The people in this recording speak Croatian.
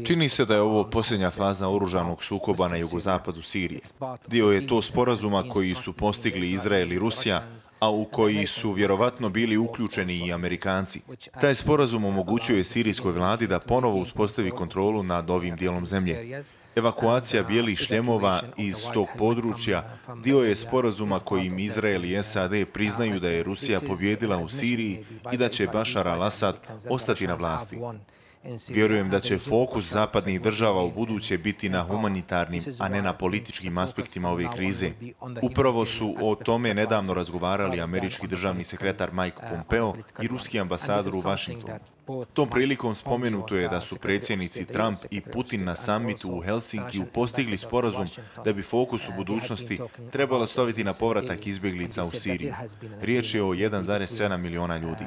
Čini se da je ovo posljednja faza oružanog sukoba na jugozapadu Sirije. Dio je to sporazuma koji su postigli Izrael i Rusija, a u koji su vjerovatno bili uključeni i Amerikanci. Taj sporazum omogućuje sirijskoj vladi da ponovo uspostavi kontrolu nad ovim dijelom zemlje. Evakuacija bijelih šljemova iz tog područja dio je sporazuma kojim Izrael i SAD priznaju da je Rusija pobijedila u Siriji i da će Bašar al-Asad ostati na vlasti. Vjerujem da će fokus zapadnih država u buduće biti na humanitarnim, a ne na političkim aspektima ove krize. Upravo su o tome nedavno razgovarali američki državni sekretar Mike Pompeo i ruski ambasador u Vašingtonu. Tom prilikom spomenuto je da su predsjednici Trump i Putin na samitu u Helsinkiju postigli sporazum da bi fokus u budućnosti trebalo staviti na povratak izbjeglica u Siriju. Riječ je o 1,7 miliona ljudi.